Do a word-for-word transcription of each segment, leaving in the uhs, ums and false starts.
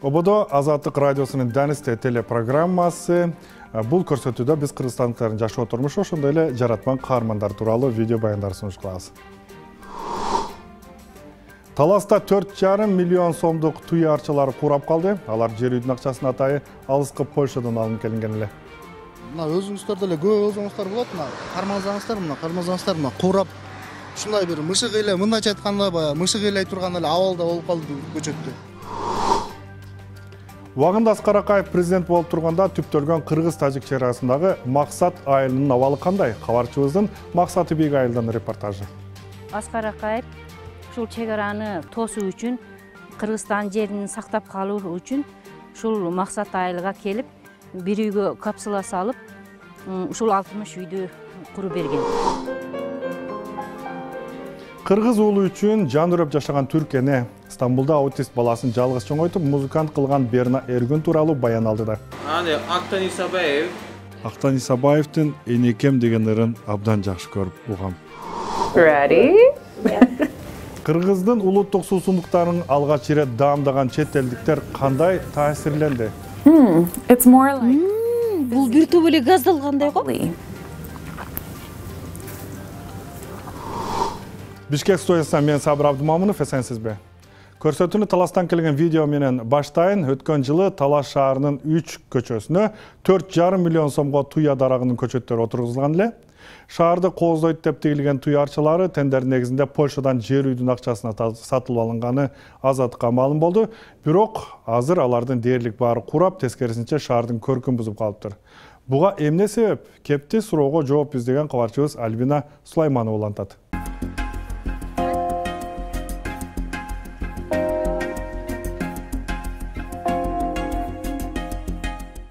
Ободо Азаттык радиосунун Данисте телепрограммасы. Бул көрсөтүүдө биз кыргызстандыктардын жашоо турмушу, ошондой эле жаратман каармандар тууралуу видео баяндар сунуш кылабыз. Таласта төрт жарым миллион сомдук туя арчалары курап калды. Алар жер үйдүн акчасына атайы алыскы Польшадан алынып келинген эле. Мына өзүңүздөр деле көп өзүңүздөр болот, мына кармазаңыздар, мына кармазаңыздар, мына курап ушундай бир мышык эле, мындайча айтканда баягы мышык эле турган эле абалда болуп калды көчөттө. Убагында Аскар Акаев президент болуп турганда түптөлгөн Кыргыз-Тажик чек арасындагы Максат айылынын абалы кандай? Кабарчыбыздын Максаты Бек айылдан репортажы. Аскар Акаев ушул чек араны тосуу үчүн, Кыргызстан жерин сактап калуу үчүн ушул Максат айылга келип, бир үйгө капсула салып, ушул алтымыш үйдү куруп берген. Кыргыз уулу үчүн жан үрөп жашаган түрк эне Стамбулда аутист баласын жалгыз чоңойтуп, музыкант кылган Берна Эргүн тууралуу баян алды да. Аны Актан Исабаев. Актан Исабаевдин энекем деген ырын абдан жакшы көрүп угам. Ready? Кыргыздын улуттук суусундуктарын алгач ирет даамдаган чет элдиктер кандай таасирленди? Hmm, it's more like Бул бир топ эле газдалгандай го. Бишкек студиясынан мен Сабыр Абдымамынов, эсенсизби? Көрсөтүүнү Таластан келген видео менен баштайын. Өткөн жылы Талас шаарынын үч көчөсүнө төрт жарым миллион сомго туя дарагынын көчөттөрү отургузулган эле. Шаарды кооздойт деп тигилген туя арчалары тендердин негизинде Польшадан жер үйдүн акчасына сатылып алынганы Азаттыкка маалым болду. Бирок азыр алардын дээрлик баары курап, тескерисинче шаардын көркүн бузуп калыптыр. Буга эмне себеп? Кепти суроого жооп издеген кабарчыбыз Альбина Сулайманова улантат.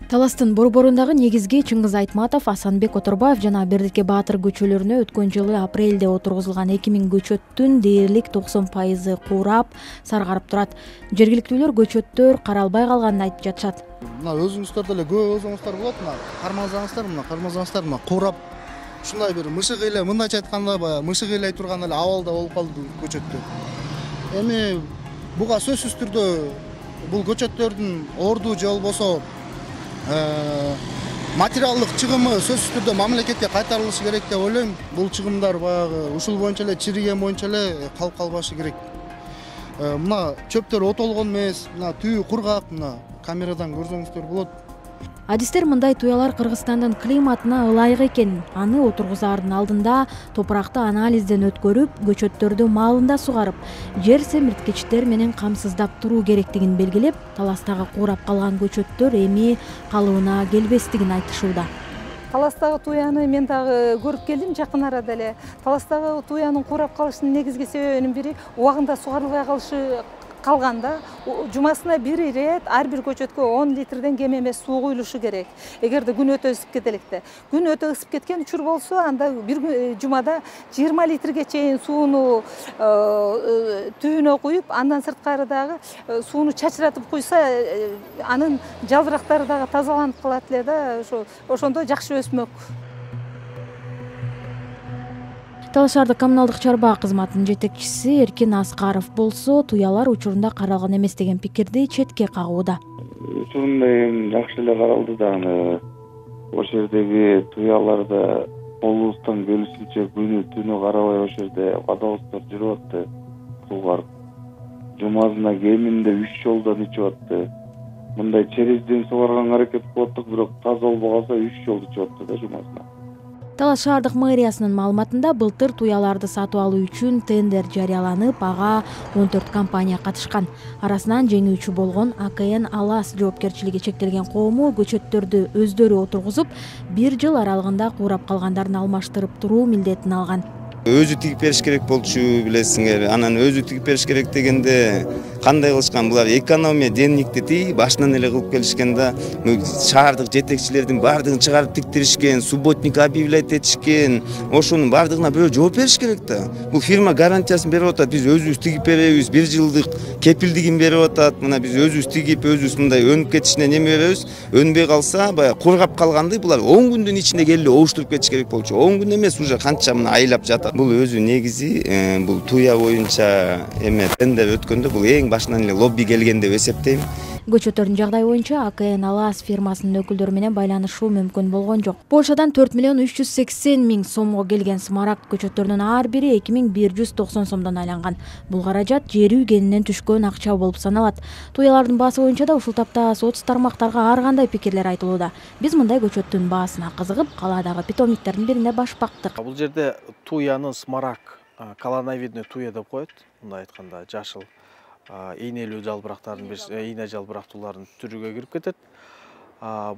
Таластын борборундагы негизги Чыңгыз Айтматов, Асанбек Оторбаев жана Бердике Баатыр көчөлөрүнө өткөн жылы апрелде отургузулган эки миң көчөттүн дээрлик токсон пайызы курап, саргарып турат. Жергиликтүүлөр көчөттөр каралбай калганын айтып жатышат. Мына өзүңүздөр деле көп өзүңүздөр болот, мына кармазаңыздар, мына кармазаңыздар, мына курап ушундай бир мышык эле, мындайча айтканда баягы мышык эле турган эле абалда болуп калды көчөттө. Эми буга сөзсүз түрдө бул көчөттөрдүн орду же болбосо материалдык чыгымы сөзсүз түрдө мамлекетке кайтарылышы керек деп ойлойм. Бул чыгымдар баягы ушул боюнча эле чириген боюнча эле калып калбашы керек. Мына чөптөр отолгон эмес, мына түйү кургак, мына камерадан көрсөңүздөр болот. Адистер мындай туялар Кыргызстандын климатына ылайык экен. Аны отургузаардын алдында топуракты анализден өткөрүп, көчөттөрдү маалында сугарып, жер семирткичтер менен камсыздап туруу керектигин белгилеп, Таластагы курап калган көчөттөр эми калыбына келбестигин айтышууда. Таластагы туяны мен дагы көрүп келдим жакын арада эле. Таластагы туянын курап калышынын негизги себебинин бири убагында сугарылбай калышы калганда жумасына бир ирет ар бир көчөткө он литрден кем эмес суу куюлушу керек. Эгерде күн өтө ысып кетеликте. Күн өтө ысып кеткен учур болсо, анда бир жумада жыйырма литрге чейин сууну түбүнө куюп, андан сырткары дагы сууну чачыратып куйса, анын жалбырактары дагы тазаланып калат эле да, ошо ошондо жакшы өсмөк. Талас шаардык коммуналдык чарба кызматынын жетекчиси Эркин Аскаров болсо, туялар учурунда каралган эмес деген пикирди четке кагууда. Учурунда эми жакшы эле каралды да, аны ошол жердеги туяларда колубуздан бөлүшүнчө күнү түнү карабай ошол жерде водовоздор жүрүп атты. Суугар жумасына кеминде үч жолдон ичип атты. Мындай черезден сугарганга аракет кылып аттык, бирок таза болбой калса үч жолду ичип атты да жумасына. Талас шаардык мэриясынын маалыматында былтыр туяларды сатып алуу үчүн тендер жарыяланып, ага он төрт компания катышкан. Арасынан жеңүүчү болгон А К Н Алас жоопкерчилиги чектелген коому көчөттөрдү өздөрү отургузуп, бир жыл аралыгында курап калгандарын алмаштырып туруу милдетин алган. Өзү тигип бериш керек болчу, билесиңер. Анан өзү тигип бериш керек дегенде кандай кылышкан? Булар экономия денникти тиги башынан эле кылып келишкен да. Шаардык жетекчилердин бардыгын чыгарып тиктиришкен, субботник объявлять этишкен. Ошонун бардыгына бирөө жооп бериш керек да. Бул фирма гарантиясын берип атат. Биз өзүбүз тигип беребиз, бир жылдык кепилдигин берип атат. Мына биз өзүбүз тигип, өзүбүз мындай өнүп кетишине неме беребиз. Өнбөй калса, баягы кургап калганды булар он күндүн ичинде келип оуштуруп кетиш керек болчу. он күн эмес, уже канча мына айлап жатат. Бул өзү негизи бул туя боюнча эме тендер өткөндө бул эң башынан эле лобби келген деп эсептейм. Көчөттөрдүн жагдайы боюнча А К Н Алас фирмасынын өкүлдөрү менен байланышуу мүмкүн болгон жок. Польшадан төрт миллион үч жүз сексен миң сомго келген смарагд көчөттөрүнүн ар бири эки миң бир жүз токсон сомдон айланган. Бул каражат жер үй кенинен түшкөн акча болуп саналат. Туялардын баасы боюнча да ушул тапта соц тармактарга ар кандай пикирлер айтылууда. Биз мындай көчөттүн баасына кызыгып, калаадагы питомниктердин бирине баш бактык. Бул жерде туянын смарагд, колоновидный туя деп коет. Мындай айтканда жашыл ийнелүү жалбырактардын бир ийне жалбырактуулардын түрүгө кирип кетет.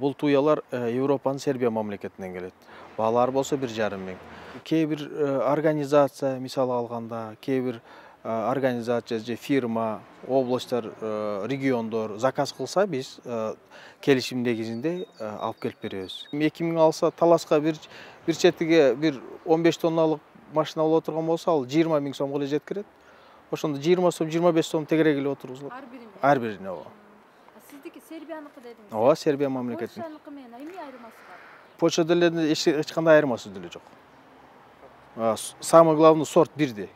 Бул туялар Европанын Сербия мамлекетинен келет. Баалары болсо бир жарым миң. Кээ бир организация, мисалы алганда, кээ бир организация же фирма, областтар, региондор заказ кылса, биз келишим негизинде алып келип беребиз. эки миң алса, таласка бир бир четиге бир он беш тонналык машина боло турган болсо, ал жыйырма миң сомго эле жеткирет. Ошондо жыйырма сом, жыйырма беш сом тегерек эле отургузулат. Ар бирине. Ар бирине, ооба. Сиздики Сербияныкы дедиңиз. Ооба, Сербия мамлекетинин. Польшаныкы менен эмне айырмасы бар? Польша деле эч кандай айырмасы деле жок. Самый главный сорт бирдей.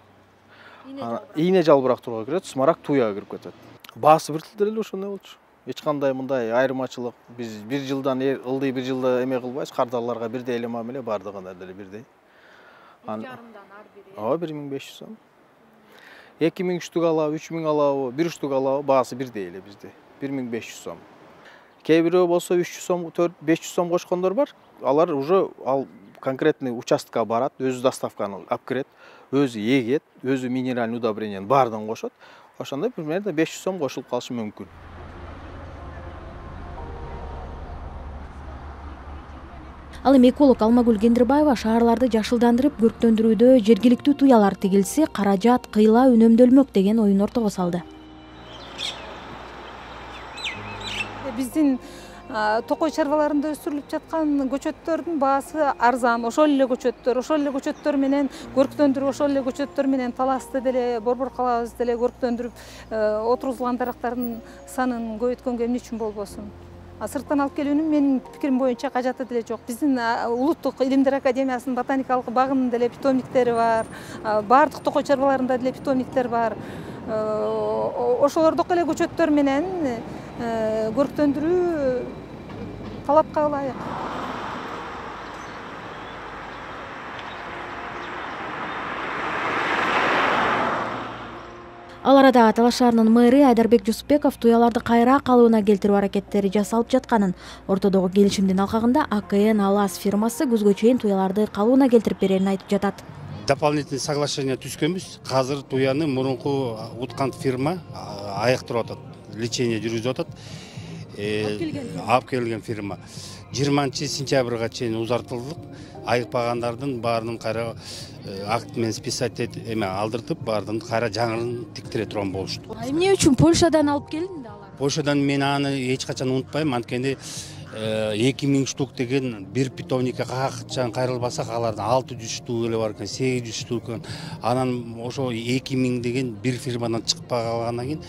Ийне жалбырактууга кирет, смарагд туяга кирип кетет. Баасы бир тил деле ошондой болчу. Эч кандай мындай айырмачылык, биз бир жылдан ылдый бир жылда эме кылбайбыз, кардарларга бирдей эле мамиле, бардыгына деле бирдей. Жарымдан ар бири. Ооба, бир миң беш жүз сом. эки миң штук алабы, үч миң алабы, бир штук алабы, баасы бирдей эле бизде. бир миң беш жүз сом. Кээ бирөө болсо үч жүз сом, төрт беш жүз сом кошкондор бар. Алар уже ал конкретный участкага барат, өзү доставканы алып кирет, өзү эгет, өзү минеральный удобрениянын баардыгын кошот. Ошондо примерно беш жүз сом кошулуп калышы мүмкүн. Ал эми эколог Алмагүл Кендирбаева шаарларды жашылдандырып, көрктөндүрүүдө жергиликтүү туялар тигилсе, каражат кыйла үнөмдөлмөк деген оюн ортого салды. Биздин токой чарбаларында өсүрүлүп жаткан көчөттөрдүн баасы арзан. Ошол эле көчөттөр, ошол эле көчөттөр менен көрктөндүрүп, ошол эле көчөттөр менен таласты деле, борбор калабызды деле көрктөндүрүп, отургузулган дарактардын санын көбөйткөнгө эмне үчүн болбосун? Сырттан алып келүүнүн менин пикирим боюнча кажаты деле жок. Биздин Улуттук Илимдер Академиясынын ботаникалык багынын деле питомниктери бар, баардык токой чарбаларында деле питомниктер бар. Ошолордук эле көчөттөр менен көрктөндүрүү талапка ылайык. Ал арада Талаш шаарынын мэри Айдарбек Жусупбеков туяларды кайра калыбына келтирүү аракеттери жасалып жатканын, ортодогу келишимдин алкагында А К Н Алас фирмасы күзгө чейин туяларды калыбына келтирип берерин айтып жатат. Дополнительный соглашение түзкөнбүз. Азыр туяны мурунку уткан фирма аяктырып атат, лечение жүргүзүп атат. Алып келген фирма жыйырманчы сентябрга чейин узартылдык. Айыкпагандардын баарынын кайра акт менен списать эме алдыртып, баардыгын кайра жаңырын тиктире турган болушту. Эмне үчүн Польшадан алып келинди алар? Польшадан мен аны эч качан унутпайм, анткени эки миң штук деген бир питомникке качан кайрылбасак, алардын алты жүз штук эле бар экен, сегиз жүз штук экен. Анан ошо эки миң деген бир фирмадан чыгып калгандан кийин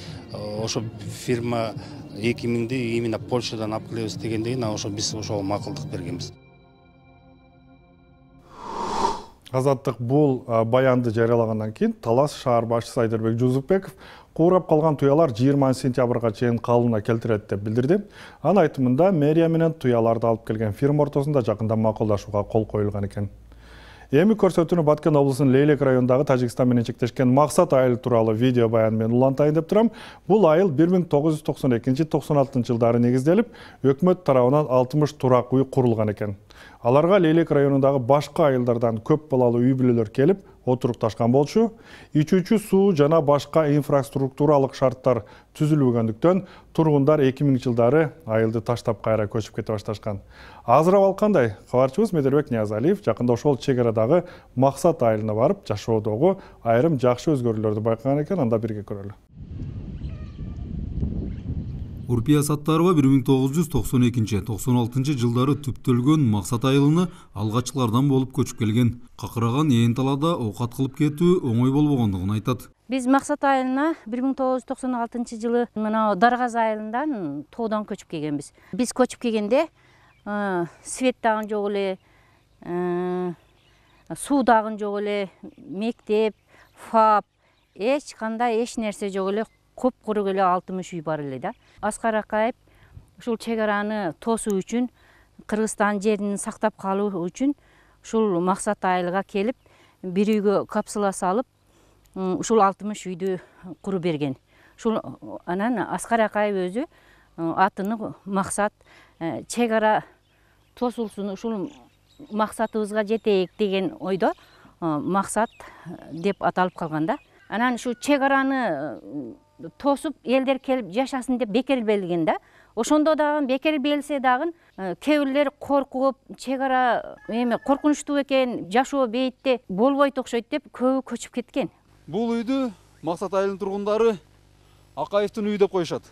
ошо фирма эки миңди именно Польшадан алып келебиз дегенден кийин ошо биз ошого макулдук бергенбиз. Азаттык бул баянды жарыялагандан кийин Талас шаар башчысы Айдарбек Жусупбеков куурап калган туялар жыйырманчы сентябрга чейин калыбына келтирет деп билдирди. Анын айтымында мэрия менен туяларды алып келген фирма ортосунда жакында макулдашууга кол коюлган экен. Эми көрсөтүүнү Баткен облусунун Лейлек районундагы Тажикстан менен чектешкен Максат айыл тууралуу видео баян менен улантайын деп турам. Бул айыл бир миң тогуз жүз токсон экинчи — токсон алтынчы жылдары негизделип, өкмөт тарабынан алтымыш турак үй курулган экен. Аларга Лейлек районундагы башка айылдардан көп балалуу үй бүлөлөр келип отурукташкан болчу. Ичүүчү суу жана башка инфраструктуралык шарттар түзүлбөгөндүктөн тургундар эки миңинчи жылдары айылды таштап кайра көчүп кете башташкан. Азыр абал кандай? Кабарчыбыз Медербек Ниязалиев жакында ошол чек арадагы Максат айылына барып, жашоодогу айрым жакшы өзгөрүүлөрдү байкаган экен, анда бирге көрөлү. Урпия Саттарова бир миң тогуз жүз токсон экинчи — токсон алтынчы жылдары түптөлгөн Максат айылына алгачкылардан болуп көчүп келген. Какыраган ээн талаада оокат кылып кетүү оңой болбогондугун айтат. Биз Максат айылына бир миң тогуз жүз токсон алтынчы жылы мына Даргаз айылынан тоодон көчүп келгенбиз. Биз көчүп келгенде свет дагы жок эле, суу дагы жок эле, мектеп, фап, эч кандай эч нерсе жок эле. куп-куру эле алтымыш үй бар эле да. Аскар Акаев ушул чек араны тосуу үчүн, Кыргызстан жерин сактап калуу үчүн ушул максат айылга келип, бир үйгө капсула салып, ушул алтымыш үйдү куруп берген. Ушул анан Аскар Акаев өзү атыны максат чек ара тосулсун, ушул максатыбызга жетейик деген ойдо максат деп аталып калган да. Анан ушу чек араны тосуп элдер келип жашасын деп бекер белген да. Ошондо дагы бекер белсе дагы кээ бирлер коркуп, чек ара эме коркунучтуу экен, жашоо бейитте болбойт окшойт деп көбү көчүп кеткен. Бул үйдү Максат айылынын тургундары Акаевдин үйү деп коюшат.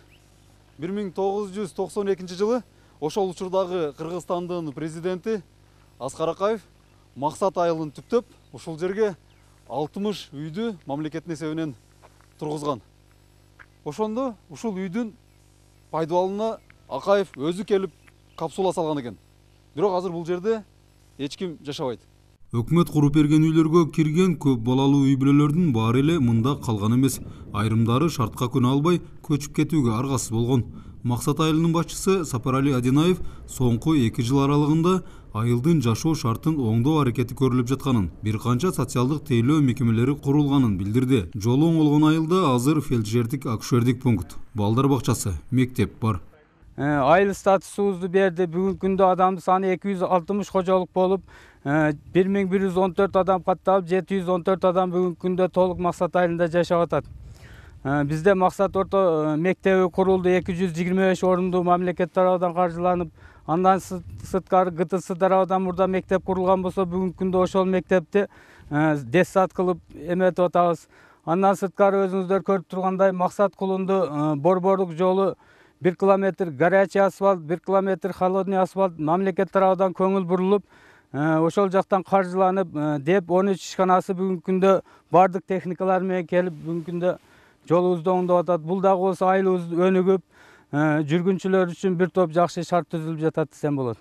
бир миң тогуз жүз токсон экинчи жылы ошол учурдагы Кыргызстандын президенти Аскар Акаев Максат айылын түптөп, ушул жерге алтымыш үйдү мамлекеттин эсебинен тургузган. Ошондо ушул үйдүн пайдаланууна Акаев өзү келип капсула салган экен. Бирок азыр бул жерде эч ким жашабайт. Өкмөт куруп берген үйлөргө кирген көп балалуу үй бүлөлөрдүн баары эле мында калган эмес. Айрымдары шартка күнө албай көчүп кетүүгө аргасыз болгон. Максат айылынын башчысы Сапарали Адинаев соңку эки жыл аралыгында айылдын жашоо шартын оңдоо аракети көрүлүп жатканын, бир канча социалдык тейлөө мекемелери курулганын билдирди. Жолу оңолгон айылда азыр фельдшердик акушердик пункт, балдар бакчасы, мектеп бар. Айыл статусубузду берди. Бүгүнкү күндө адамдын саны эки жүз алтымыш кожолук болуп, бир миң бир жүз он төрт адам катталып, жети жүз он төрт адам бүгүнкү күндө толук Максат айылында жашап атат. Бизде Максат орто мектеби курулду, эки жүз жыйырма беш орунду мамлекет тарабынан каржыланып, андан сырткары Г Т С тарабынан мурда мектеп курулган болсо, бүгүнкү күндө ошол мектепти детсад кылып эметип атабыз. Андан сырткары өзүңүздөр көрүп тургандай Максат кулунду борборлук жолу бир километр горячий асфальт, бир километр холодный асфальт мамлекет тарабынан көңүл бурулуп, ошол жактан каржыланып, деп он үч ишканасы бүгүнкү күндө бардык техникалар менен келип бүгүнкү күндө жолубузду оңдоп атат. Бул дагы болсо айылыбыз өнүгүп, жүргүнчүлөр үчүн бир топ жакшы шарт түзүлүп жатат десем болот.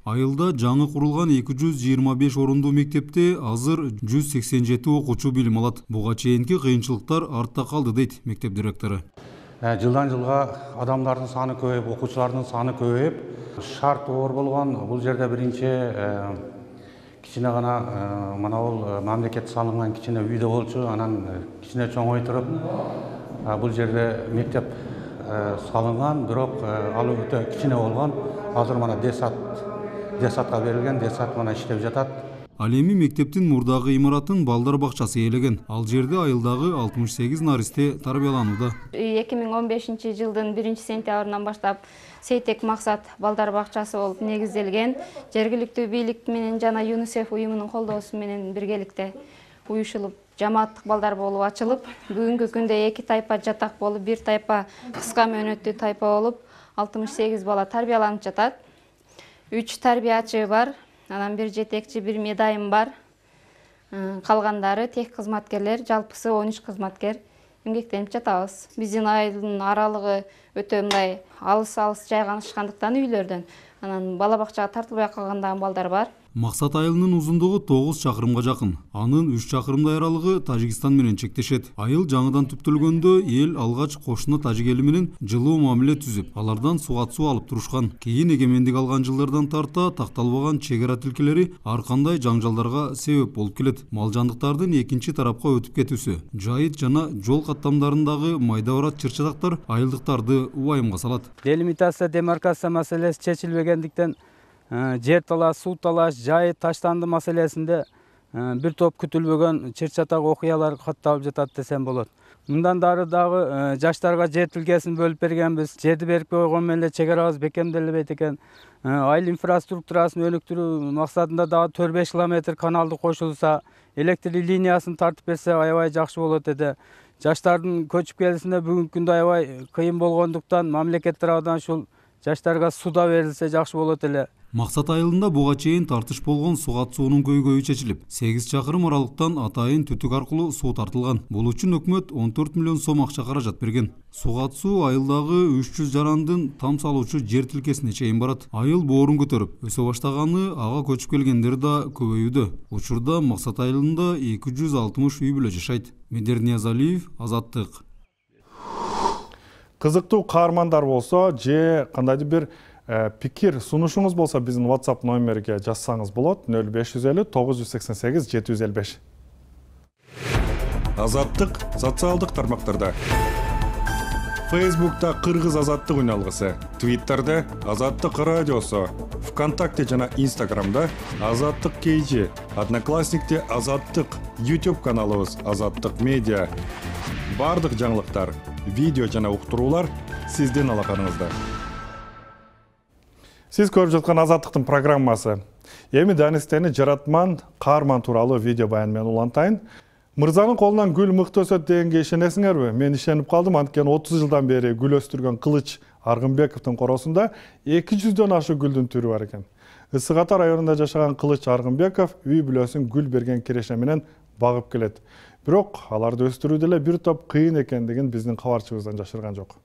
Айылда жаңы курулган эки жүз жыйырма беш орундуу мектепте азыр жүз сексен жети окуучу билим алат. Буга чейинки кыйынчылыктар артта калды дейт мектеп директору. Жылдан жылга адамдардын саны көбөйүп, окуучулардын саны көбөйүп, шарт оор болгон. Бул жерде биринчи кичине гана мына бул мамлекет салынган кичине үйдө болчу, анан кичине чоңойтуруп бул жерде мектеп салынган, бирок ал өтө кичине болгон. Азыр мына детсад детсадга берилген, детсад мына иштеп жатат. Ал эми мектептин мурдагы имаратын балдар бакчасы ээлеген. Ал жерде айылдагы алтымыш сегиз наристе тарбияланууда. эки миң он бешинчи жылдын биринчи сентябрынан баштап Сейтек Максат балдар бакчасы болуп негизделген. Жергиликтүү бийлик менен жана ЮНИСЕФ уюмунун колдоосу менен биргеликте уюшулуп, жамааттык балдар болуп ачылып, бүгүнкү күндө эки тайпа жатак болуп, бир тайпа кыска мөөнөттүү тайпа болуп, алтымыш сегиз бала тарбияланып жатат. үч тарбиячы бар. Анан бир жетекчи, бир медайым бар. Калгандары тех кызматкерлер, жалпысы он үч кызматкер эмгектенип жатабыз. Биздин айылдын аралыгы өтө мындай алыс-алыс жайгашкандыктан үйлөрдөн. Анан бала бакчага тартылбай калган балдар бар. Максат айылынын узундугу тогуз чакырымга жакын. Анын үч чакырымдай аралыгы Тажикстан менен чектешет. Айыл жаңыдан түптөлгөндө эл алгач кошуна тажик эли менен жылуу мамиле түзүп, алардан сугат суу алып турушкан. Кийин эгемендик алган жылдардан тарта такталбаган чек ара тилкелери ар кандай жаңжалдарга себеп болуп келет. Мал жандыктардын экинчи тарапка өтүп кетүүсү, жайыт жана жол каттамдарындагы майда барат чыр-чатактар айылдыктарды убайымга салат. Делимитация, демаркация маселеси чечилбегендиктен жер талаш, суу талаш, жайыт таштанды маселесинде бир топ күтүлбөгөн чыр-чатак окуялар катталып жатат десем болот. Мындан дары дагы жаштарга жер тилкесин бөлүп бергенбиз. Жерди берип койгон менен чек арабыз бекемделбейт экен. Айыл инфраструктурасын өнүктүрүү максатында дагы төрт беш километр каналды кошулса, электр линиясын тартып берсе аябай жакшы болот эди. Жаштардын көчүп келүүсүнө бүгүнкү күндө аябай кыйын болгондуктан мамлекет тарабынан ушул жаштарга суда берилсе жакшы болот эле. Максат айылында буга чейин тартыш болгон сугат суунун көйгөйү чечилип, сегиз чакырым аралыктан атайын түтүк аркылуу суу тартылган. Бул үчүн өкмөт он төрт миллион сом акча каражат берген. Сугат суу айылдагы үч жүз жарандын там салуучу жер тилкесине чейин барат. Айыл боорун көтөрүп, өсө баштаганы ага көчүп келгендер да көбөйүүдө. Учурда Максат айылында эки жүз алтымыш үй бүлө жашайт. Медер Ниязалиев, Азаттык. кызыктуу каармандар болсо же кандайдыр бир пикир сунушуңуз болсо биздин WhatsApp номериге жазсаңыз болот. нөл беш жүз элүү тогуз жүз сексен сегиз жети жүз элүү беш. Азаттык социалдык тармактарда. Facebook'ta Кыргыз Азаттык үналгысы, Twitter'де Азаттык радиосу, ВКонтакте жана Instagram'да Азаттык кей джи, Одноклассникте Азаттык, YouTube каналыбыз Азаттык медиа. Бардык жаңылыктар, видео жана уктуруулар сиздин алаканыңызда. Сиз көрүп жаткан Азаттыктын программасы. Эми Данистени жаратман, каарман тууралуу видео баян менен улантайын. Мырзанын колунан гүл мыкты өсөт дегенге ишенесиңерби? Мен ишенип калдым, анткени отуз жылдан бери гүл өстүргөн Кылыч Аргынбековдун коросунда эки жүздөн ашык гүлдүн түрү бар экен. Ысык Ата районунда жашаган Кылыч Аргынбеков үй бүлөсүн гүл берген киреше менен багып келет. Бирок аларды өстүрүүдө эле бир топ кыйын экендигин биздин кабарчыбыздан жашырган жок.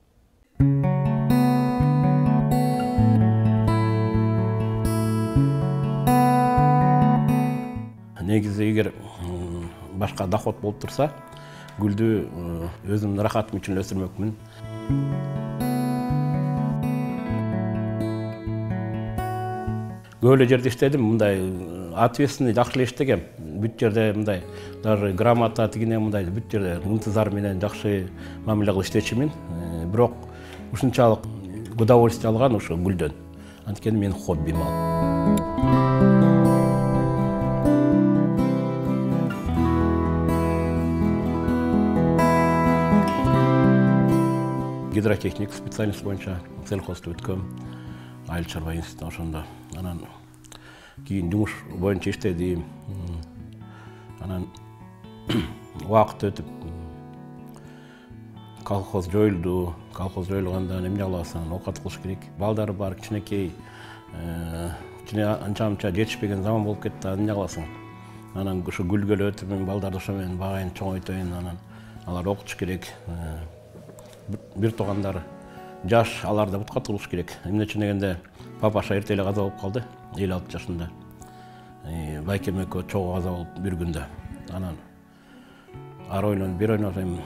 Негизи эгер башка доход болуп турса, гүлдү өзүмдүн рахатым үчүн өстүрмөкмүн. Көп эле жерде иштедим, мындай ответственный жакшы эле иштегем. Бүт жерде мындай даже грамота тигине мындай бүт жерде ынтызар менен жакшы мамиле кылып иштечүмүн. Бирок ушунчалык удовольствие алган ошо гүлдөн. Анткени менин хоббим ал. Гидротехник специальность боюнча сельхозду өткөм. Айыл чарба институтуна ошондо. Анан кийин жумуш боюнча иштедим. Анан убакыт өтүп колхоз жоюлду. Колхоз жоюлганда эмне кыласың? Оокат кылыш керек. Балдары бар, кичинекей, кичине анча-мынча жетишпеген заман болуп кетти. Эмне кыласың? Анан ошо гүлгөлө өтүп, балдарды ошо менен багайын, чоңойтойн, анан алар окутуш керек. Бир туугандар жаш, аларда бутка турулуш керек. Эмне үчүн дегенде папаша эрте эле каза болуп калды, элүү алты жашында. Байкем экөө чогуу каза болуп бир күндө. Анан ар ойлонуп, бир ойлонуп,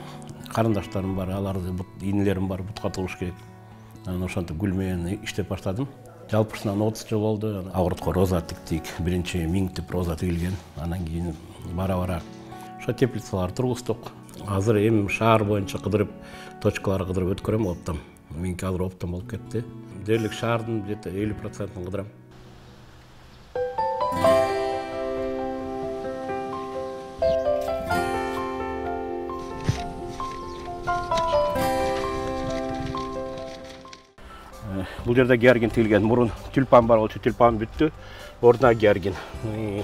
карындаштарым бар, аларды инилерим бар, бутка турулуш керек. Анан ошентип гүл менен иштеп баштадым. Жалпысынан отуз жыл болду. Агуртко роза тиктик, биринчи миң түп роза тигилген. Анан кийин бара-бара ошо теплицалар тургуздук. Азыр эми шаар боюнча кыдырып, точкалар кыдырып өткөрөм оптом. Меники азыр оптом болуп кетти. Дерлик шаардын где-то элүү процентин кыдырам. Бул жерде георгин тигилген. Мурун тюльпан бар болчу, тюльпан бүттү. Ордуна георгин.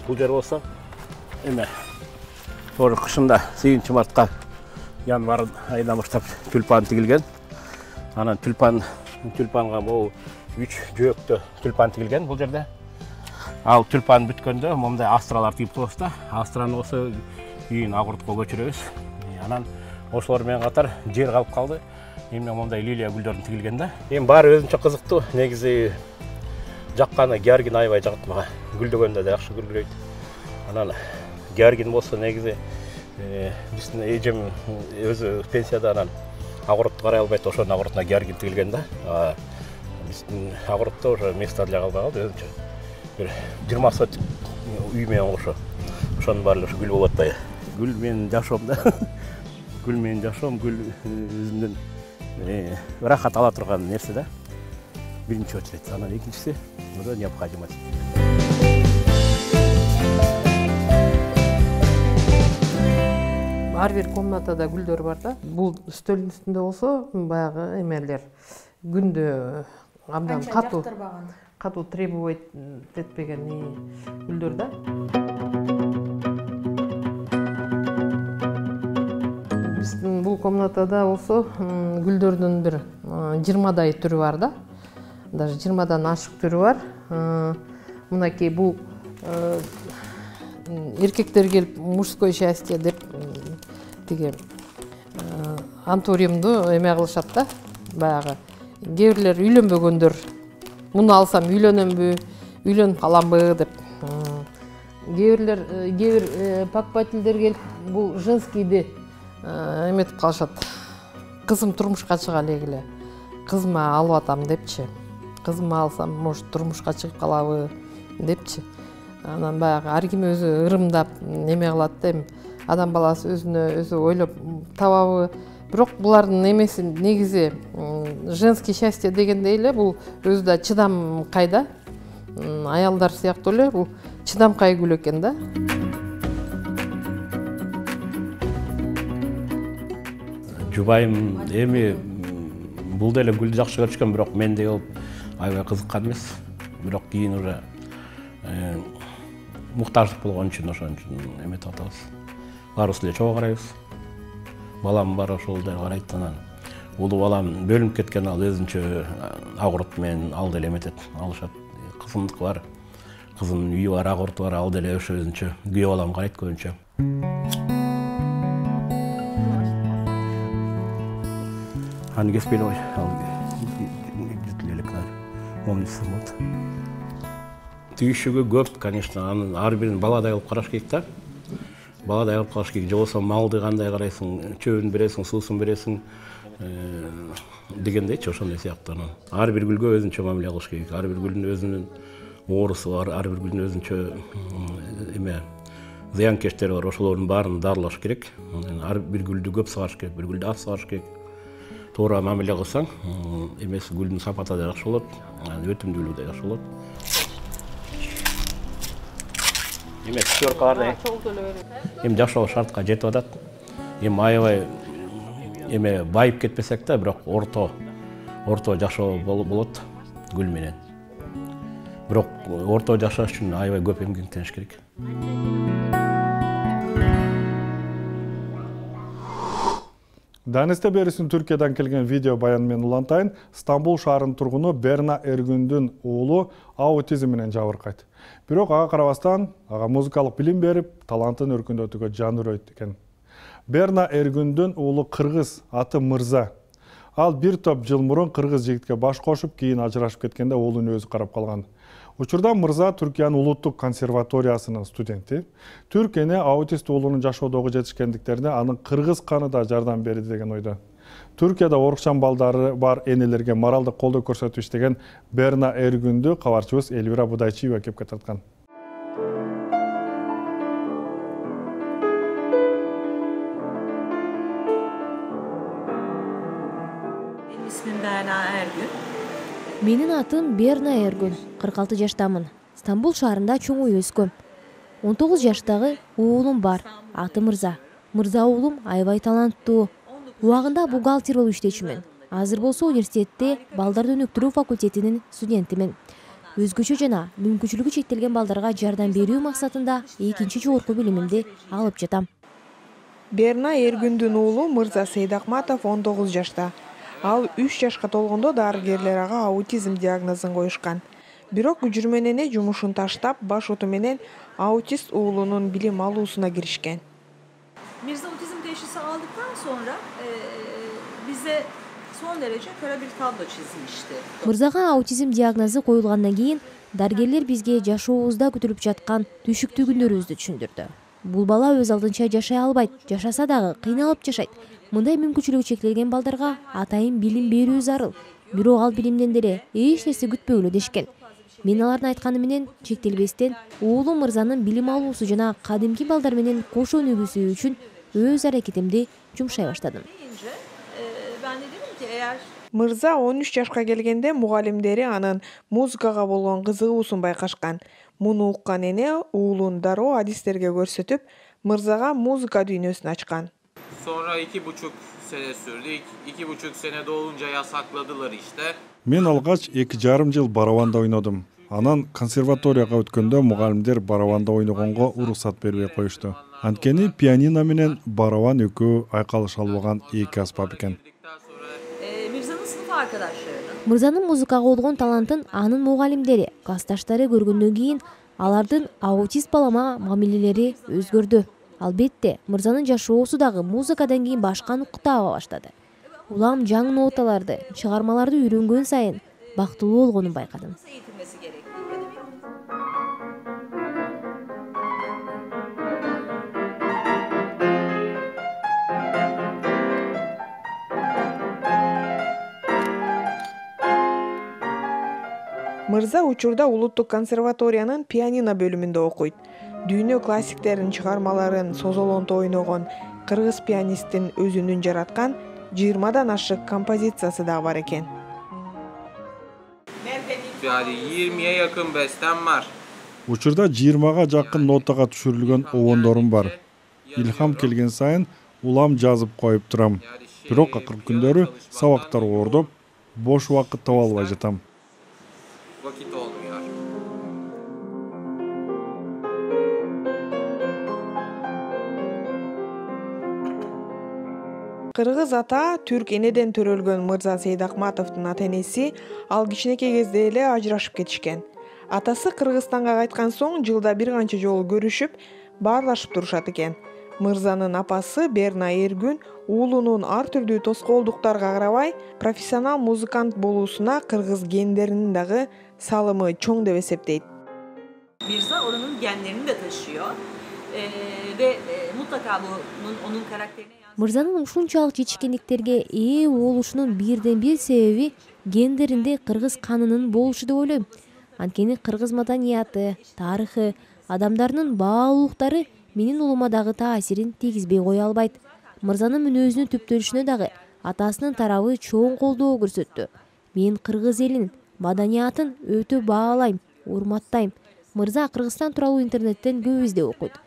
Бул жер болсо эме ошо кышында сегизинчи мартка январь айынан баштап тюльпан тигилген. Анан тюльпан тюльпанга могу үч жөөктө тюльпан тигилген бул жерде. Ал тюльпан бүткөндө момундай астралар тигип коебуз да. Астраны болсо кийин Агуртко көчүрөбүз. Анан ошолор менен катар жер калып калды. Эмне момундай лилия гүлдөрүн тигилген да. Эми баары өзүнчө кызыктуу. Негизи жакканы георгин аябай жагат мага. Гүлдөгөндө да жакшы гүлдөйт. Анан георгин болсо негизи биздин эжем өзү пенсияда анан Агуртты карай албайт, ошонун Агуртуна георгин тигилген да. Биздин Агуртто ошо место эле калбай калды өзүнчө. Бир жыйырма сотик үй менен ошо. Ошонун баары ошо гүл болуп атпайбы? Гүл менин жашоом да. Гүл менин жашоом, гүл өзүмдүн рахат ала турган нерсе да. Биринчи очередь. Анан экинчиси уже необходимость. Ар бир комнатада гүлдөр бар да. Бул стөлдүн үстүндө болсо баягы эмелер күндө абдан катуу катуу требовать этпеген гүлдөр да. Биздин бул комнатада болсо гүлдөрдүн бир жыйырмадай түрү бар да. Даже жыйырмадан ашык түрү бар. Мынакей бул эркектер келип мужское счастье деп тиги антуриумду эме кылышат да. Баягы кээ бирлер үйлөнбөгөндөр муну алсам үйлөнөмбү, үйлөнүп каламбы деп. Кээ бирлер кээ бир покупательдер келип бул женскийди эметип калышат. Кызым турмушка чыга элегиле. кызыма алып атам депчи. Кызыма алсам, может, турмушка чыгып калабы депчи. Анан баягы ар ким өзү ырымдап неме кылат да, эми адам баласы өзүнө өзү ойлоп табабы. Бирок булардын эмеси негизи женский счастье дегендей эле бул өзү да чыдам кайда. Аялдар сыяктуу эле бул чыдамкай гүл экен да. Жубайым эми бул деле гүлдү жакшы көрүшкөн, бирок мендей болуп аябай кызыккан эмес. Бирок кийин уже муктаждык болгон үчүн ошон үчүн эметип атабыз. Баарыбыз эле чогуу карайбыз. Балам бар, ошол деле карайт. Анан улуу балам бөлүнүп кеткен, ал өзүнчө ак урут менен ал деле эметет, алышат. Кызымдыкы бар, кызымдын үйү бар, ак уруту бар, ал деле ошо өзүнчө. Күйөө балам карайт көбүнчө. Аны кеспей эле кой, ал бүтүп элек момнусы болот. Түйүшүгү көп, конечно, анын ар бирин баладай кылып караш керек да. Баладай кылып караш керек. Же болбосо малды кандай карайсың, чөбүн бересиң, суусун бересиң дегендейчи, ошондой сыяктуу. Ар бир гүлгө өзүнчө мамиле кылыш керек. Ар бир гүлдүн өзүнүн оорусу бар, ар бир гүлдүн өзүнчө эме зыянкечтери бар. Ошолордун баарын дарылаш керек. Ар бир гүлдү көп сыгаш керек, бир гүлдү аз сыгаш керек. Туура мамиле кылсаң, эмеси гүлдүн сапаты да жакшы болот, өтүмдүүлүгү да жакшы болот. Эме четверкаларда эми жашоо шартка жетип атат. Эми аябай эме байып кетпесек да, бирок орто орто жашоо болот гүл менен. Бирок орто жашаш үчүн аябай көп эмгектениш керек. Данисте берисин Түркиядан келген видео баян менен улантайын. Стамбул шаарынын тургуну Берна Эргүндүн уулу аутизм менен жабыркайт. Бирок ага карабастан, ага музыкалык билим берип, талантын өркүндөтүүгө жан үрөйт экен. Берна Эргүндүн уулу кыргыз, аты Мырза. Ал бир топ жыл мурун кыргыз жигитке баш кошуп, кийин ажырашып кеткенде уулун өзү карап калган. Учурда Мырза Түркиянын улуттук консерваториясынын студенти. Түрк эне аутист уулунун жашоодогу жетишкендиктерине анын кыргыз каны да жардам берди деген ойдо. Түркияда орукчан балдары бар энелерге моралдык колдоо көрсөтүп иштеген Берна Эргүндү кабарчыбыз Элвира Будайчиева кепке тарткан. Менин атым Берна Эргүн, кырк алты жаштамын. Стамбул шаарында чоңой өскөм. он тогуз жаштагы уулум бар, аты Мырза. Мырза уулум аябай таланттуу. Убагында бухгалтер болуп иштечүмүн. Азыр болсо университетте балдарды өнүктүрүү факультетинин студентимин. Өзгөчө жана мүмкүнчүлүгү чектелген балдарга жардам берүү максатында экинчи жогорку билимимди алып жатам. Берна Эргүндүн уулу Мырза Сейдакматов он тогуз жашта. Ал үч жашка толгондо дарыгерлер ага аутизм диагнозун коюшкан. Бирок жүрмөн эне жумушун таштап, баш оту менен аутист уулунун билим алуусуна киришкен. Mirza otizm teşhisi aldıktan sonra e, bize son derece kara bir tablo çizmişti. Мырзага аутизм диагнозу коюлгандан кийин дарыгерлер бизге жашообузда күтүлүп жаткан түшүктүү күндөрүбүздү түшүндүрдү. Бул бала өз алдынча жашай албайт, жашаса дагы кыйналып жашайт. Мындай мүмкүнчүлүгү чектелген балдарга атайын билим берүү зарыл. Бирок ал билимден деле эч нерсе күтпөгүлө дешкен. Мен алардын айтканы менен чектелбестен уулум Мырзанын билим алуусу жана кадимки балдар менен кош өнүгүүсү үчүн өз аракетимди жумшай баштадым. Мырза он үч жашка келгенде мугалимдери анын музыкага болгон кызыгуусун байкашкан. Муну уккан эне уулун дароо адистерге көрсөтүп, Мырзага музыка дүйнөсүн ачкан. Sonra iki buçuk sene sürdü. İki, iki buçuk sene dolunca yasakladılar işte. Мен алгач эки жарым жыл барабанда ойнодум. Анан консерваторияга өткөндө мугалимдер барабанда ойногонго уруксат бербей коюшту. Анткени пианино менен барабан экөө айкалыша албаган эки аспап экен. Mirza'nın sınıf arkadaşlarını. Мырзанын музыкага болгон талантын анын мугалимдери, классташтары көргөндөн кийин алардын аутист балама мамилелери өзгөрдү. Албетте, Мырзанын жашоосу дагы музыкадан кийин башка нукта таба баштады. Улам жаңы ноталарды, чыгармаларды үйрөнгөн сайын бактылуу болгонун байкадым. Мырза учурда Улуттук консерваториянын пианино бөлүмүндө окуйт. Дүйнө классиктеринин чыгармаларын созолонто ойногон кыргыз пианисттин өзүнүн жараткан жыйырмадан ашык композициясы да бар экен. Yani yirmiye yakın bestem var. Учурда жыйырмага жакын нотага түшүрүлгөн обондорум бар. Илхам келген сайын улам жазып коюп турам. Бирок акыркы күндөрү сабактар оордоп, бош убакыт таба албай жатам. Vakit olmuyor. Кыргыз ата түрк энеден төрөлгөн Мырза Сейдакматовдун ата-энеси ал кичинекей кезде эле ажырашып кетишкен. Атасы Кыргызстанга кайткан соң жылда бир канча жолу көрүшүп, баарлашып турушат экен. Мырзанын апасы Берна Эргүн уулунун ар түрдүү тоскоолдуктарга карабай профессионал музыкант болуусуна кыргыз гендеринин дагы салымы чоң деп эсептейт. Mirza oranın genlerini de taşıyor ee, ve e, mutlaka bunun onun karakterine Мырзанын ушунчалык жетишкендиктерге ээ болушунун бирден бир себеби гендеринде кыргыз канынын болушу деп ойлойм. Анткени кыргыз маданияты, тарыхы, адамдарынын баалуулуктары менин уулума дагы таасирин тийгизбей кое албайт. Мырзанын мүнөзүнүн түптөлүшүнө дагы атасынын тарабы чоң колдоо көрсөттү. Мен кыргыз элинин маданиятын өтө баалайм, урматтайм. Мырза Кыргызстан тууралуу интернеттен көп издеп окуйт.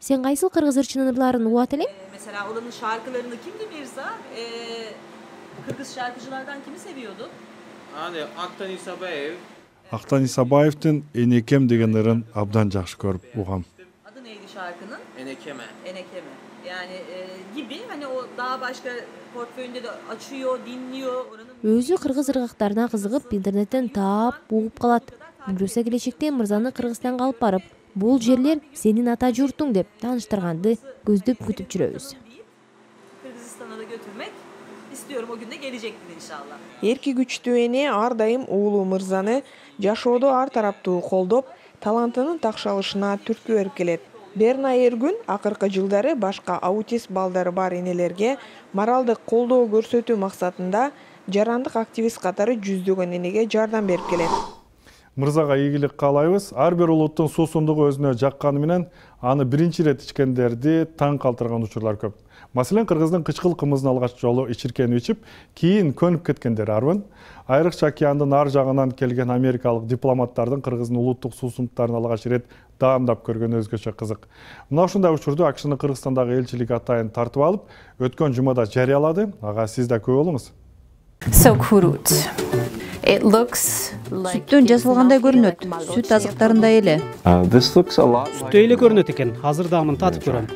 Sen кайсыл кыргыз ырчынын ырларын угат элең? Mesela oranın şarkılarını kimdi Mirza? Ee, Kırgız şarkıcılardan kimi seviyordu? Hani Aktan İsabayev. Актан Исабаевдин Энекем деген ырын абдан жакшы көрүп угам. Adı neydi şarkının? Enekeme. Enekeme. Yani e, gibi hani o daha başka portföyünde de açıyor, dinliyor. Oranın Өзү кыргыз ыргактарына кызыгып, интернеттен таап, угуп калат. Буюрса келечекте Мырзаны Кыргызстанга алып барып, бул жерлер сенин ата журтуң деп тааныштырганды көздөп күтүп жүрөбүз. Kırgızistan'a da götürmek istiyorum, o gün de gelecektir inşallah. Эрки күчтүү эне ар дайым уулу Мырзаны жашоодо ар тараптуу колдоп, талантынын такшалышына түрткү берип келет. Берна Эргүн акыркы жылдары башка аутист балдары бар энелерге моралдык колдоо көрсөтүү максатында жарандык активист катары жүздөгөн энеге жардам берип келет. Мырзага ийгилик каалайбыз. Ар бир улуттун суусундугу өзүнө жакканы менен аны биринчи ирет ичкендерди таң калтырган учурлар көп. Маселен, кыргыздын кычкыл кымызын алгач жолу ичиркени ичип, кийин көнүп кеткендер арбын. Айрыкча океандын ар жагынан келген америкалык дипломаттардын кыргыздын улуттук суусундуктарын алгач ирет даамдап көргөнү өзгөчө кызык. Мына ушундай учурду АКШнын Кыргызстандагы элчилиги атайын тартып алып, өткөн жумада жарыялады. Ага сиз да күбө болуңуз. So kurut. It looks like Сүттөн жасалгандай көрүнөт. Сүт азыктарындай эле. Сүттө эле көрүнөт экен. Азыр да мын татып көрөм.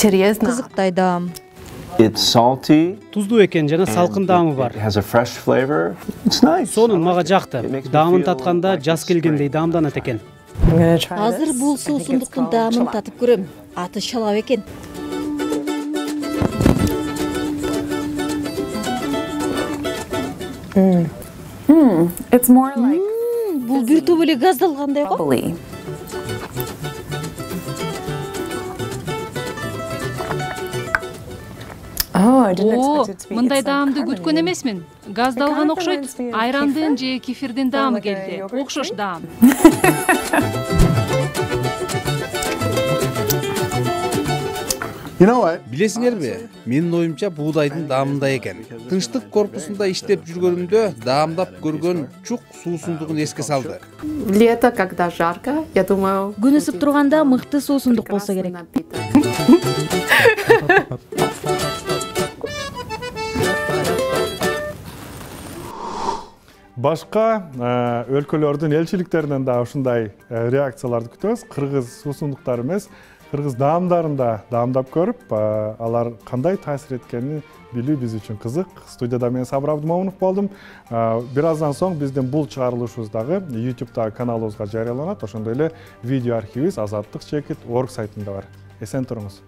интересно. Кызыктай даам. It's salty. Туздуу экен жана салкын даамы бар. It has a fresh flavor. It's nice. Сонун мага жакты. Даамын татканда жаз келгендей даамданат экен. Азыр бул суусундуктун даамын татып көрөм. Аты шалап экен. Hmm. Hmm. It's more like бул бир топ эле газдалгандай го. О, мындай даамды күткөн эмесмин. Газдалган окшойт. Айрандын же кефирдин даамы келди. Окшош даам. Билесиңерби, менин оюмча буудайдын даамындай экен. Тынчтык корпусунда иштеп жүргөнүмдө даамдап көргөн чук суусундугун эске салды. Лето, когда жарко, я думаю... Күн ысып турганда мыкты суусундук болсо керек. Башка өлкөлөрдүн элчиликтеринен да ушундай реакцияларды күтөбүз. Кыргыз суусундуктары эмес, кыргыз даамдарын да даамдап көрүп, алар кандай таасир эткенин билүү биз үчүн кызык. Студияда мен Сабыр Абдымомунов болдум. Бир аздан соң биздин бул чыгарылышыбыз дагы YouTube каналыбызга жарыяланат. Ошондой эле видео архивибиз азаттык чекит точка орг сайтында бар. Эсен туруңуз.